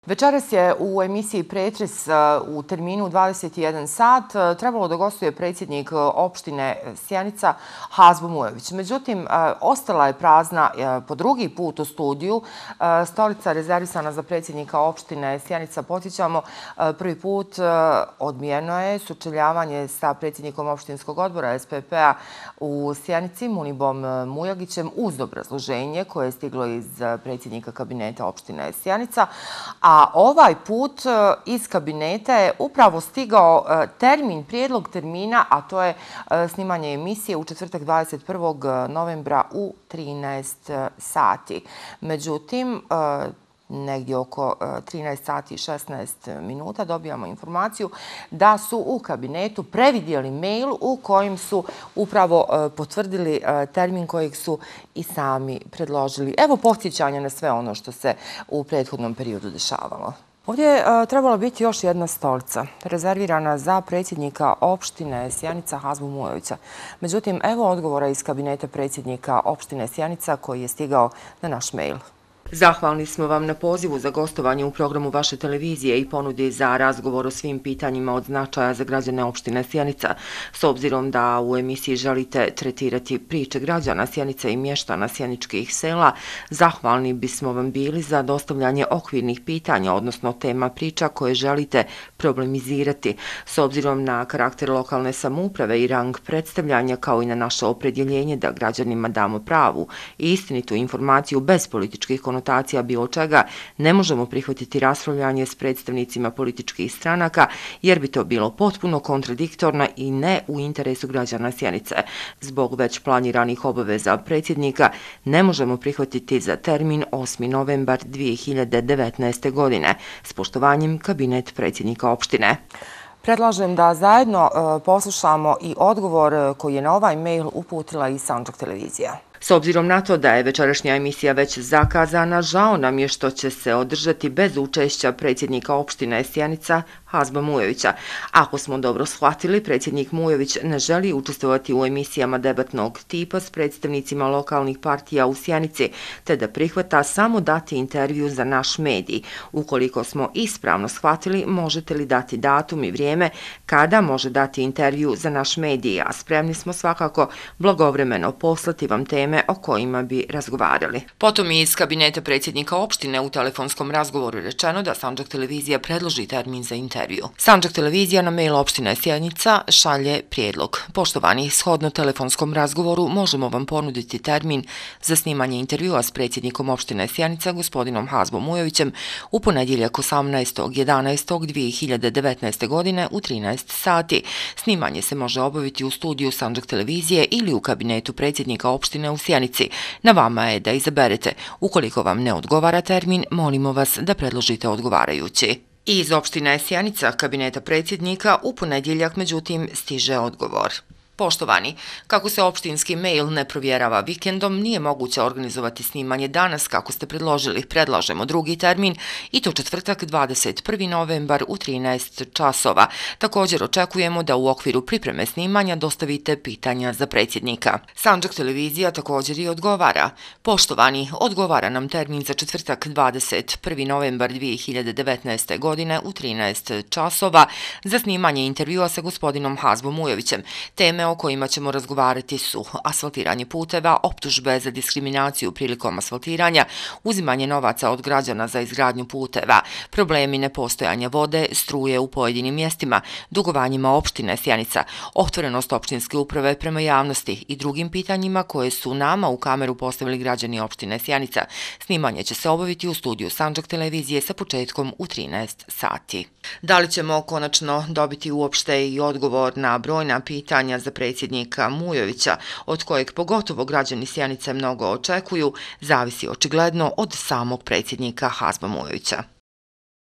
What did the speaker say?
Večeras je u emisiji Pretres u terminu 21 sat trebalo da gostuje predsjednik opštine Sjenica Hazbo Mujović. Međutim, ostala je prazna po drugi put u studiju. Stolica rezervisana za predsjednika opštine Sjenica, podsjećamo, prvi put odbijeno je sučeljavanje sa predsjednikom opštinskog odbora SPP-a u Sjenici, Munibom Mujagićem, uz obrazloženje koje je stiglo iz predsjednika kabineta opštine Sjenica. A ovaj put iz kabineta je upravo stigao prijedlog termina, a to je snimanje emisije u četvrtak 21. novembra u 13 sati. Međutim, negdje oko 13 sati i 16 minuta dobijamo informaciju da su u kabinetu previdjeli mail u kojem su upravo potvrdili termin kojeg su i sami predložili. Evo podsjećanja na sve ono što se u prethodnom periodu dešavalo. Ovdje je trebala biti još jedna stolica, rezervirana za predsjednika opštine Sjenica Hazbu Mujovića. Međutim, evo odgovora iz kabineta predsjednika opštine Sjenica koji je stigao na naš mail. Zahvalni smo vam na pozivu za gostovanje u programu vaše televizije i ponudi za razgovor o svim pitanjima od značaja za građane opštine Sjenica. S obzirom da u emisiji želite tretirati priče građana Sjenice i mještana sjeničkih sela, zahvalni bismo vam bili za dostavljanje okvirnih pitanja, odnosno tema priča koje želite problemizirati. S obzirom na karakter lokalne samouprave i rang predstavljanja, kao i na naše opredjeljenje da građanima damo pravu i istinitu informaciju bez političkih konotacija bilo čega, ne možemo prihvatiti raspravljanje s predstavnicima političkih stranaka, jer bi to bilo potpuno kontradiktorno i ne u interesu građana Sjenice. Zbog već planiranih obaveza predsjednika ne možemo prihvatiti za termin 8. novembar 2019. godine. S poštovanjem, kabinet predsjednika opštine. Predlažem da zajedno poslušamo i odgovor koji je na ovaj mail uputila i Sandžak televizija. S obzirom na to da je večerašnja emisija već zakazana, žao nam je što će se održati bez učešća predsjednika opštine Sjenica Hazba Mujovića. Ako smo dobro shvatili, predsjednik Mujović ne želi učestvovati u emisijama debatnog tipa s predstavnicima lokalnih partija u Sjenici, te da prihvata samo dati intervju za naš medij. Ukoliko smo ispravno shvatili, možete li dati datum i vrijeme kada može dati intervju za naš medij, a spremni smo svakako blagovremeno poslati vam teme o kojima bi razgovarali. Potom iz kabineta predsjednika opštine u telefonskom razgovoru rečeno da Sandžak televizija predloži termin za intervju. Sandžak televizija na mail opštine Sjenica šalje prijedlog. Poštovani, shodno telefonskom razgovoru možemo vam ponuditi termin za snimanje intervjua s predsjednikom opštine Sjenica, gospodinom Hazbom Mujovićem, u ponedjeljak 18.11.2019. godine u 13 sati. Snimanje se može obaviti u studiju Sandžak televizije ili u kabinetu predsjednika opštine u Sjenici. Na vama je da izaberete. Ukoliko vam ne odgovara termin, molimo vas da predložite odgovarajući. Iz opštine Sjenica, kabineta predsjednika, u ponedjeljak međutim stiže odgovor. Poštovani, kako se opštinski mail ne provjerava vikendom, nije moguće organizovati snimanje danas kako ste predložili. Predlažemo drugi termin i to četvrtak 21. novembar u 13 časova. Također očekujemo da u okviru pripreme snimanja dostavite pitanja za predsjednika. Sandžak televizija također i odgovara. Poštovani, odgovara nam termin za četvrtak 21. novembar 2019. godine u 13 časova za snimanje intervjua sa gospodinom Hazbom Mujovićem. Teme o kojima ćemo razgovarati su asfaltiranje puteva, optužbe za diskriminaciju prilikom asfaltiranja, uzimanje novaca od građana za izgradnju puteva, problemi nepostojanja vode, struje u pojedinim mjestima, dugovanjima opštine Sjenica, otvorenost opštinske uprave prema javnosti i drugim pitanjima koje su nama u kameru postavili građani opštine Sjenica. Snimanje će se obaviti u studiju Sandžak televizije sa početkom u 13 sati. Da li ćemo konačno dobiti uopšte i odgovor na brojna pitanja za predsjednika Mujovića, od kojeg pogotovo građani Sjenice mnogo očekuju, zavisi očigledno od samog predsjednika Hazba Mujovića.